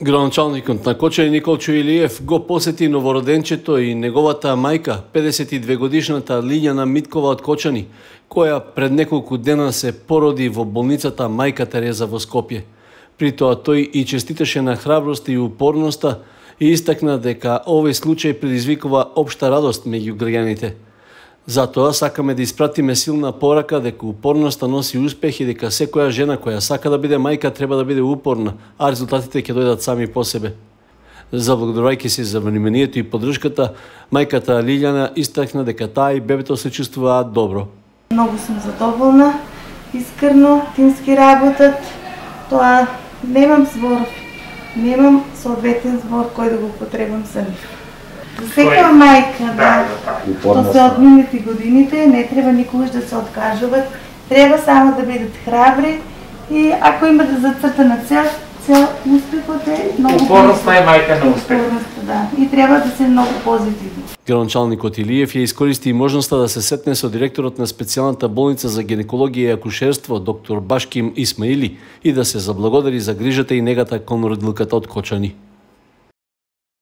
Градоначалникот на Кочани Николчо Илиев го посети новороденчето и неговата мајка, 52 годишната Лиљана Миткова од Кочани, која пред неколку дена се породи во болницата Мајка Тереза во Скопје. При тоа тој и честиташе на храброст и упорноста и истакна дека овој случај предизвикува општа радост меѓу граѓаните. Затоа сакаме да испратиме силна порака дека упорноста носи успех и дека секоја жена која сака да биде мајка треба да биде упорна, а резултатите ќе дојдат сами по себе. Заблагодарувајќи се за вниманието и поддршката, мајката Лиљана истакна дека таа и бебето се чувствуваат добро. Многу сум задоволна, искрено, тимски работат. Тоа немам збор, немам соодветен збор кој да го потребам за нив. За секоја мајка, што се одминати годините, не треба никогаш да се откажуваат, треба само да бидат храбри и ако имат зацртана цел успехот е многу. Упорноста е мајка на успех. Да, и треба да се многу позитивни. Градоначалникот Илиев ја искористи и можноста да се сетне со директорот на специјалната болница за гинекологија и акушерство доктор Башким Исмаили и да се заблагодари за грижата и негата кон родилката од Кочани.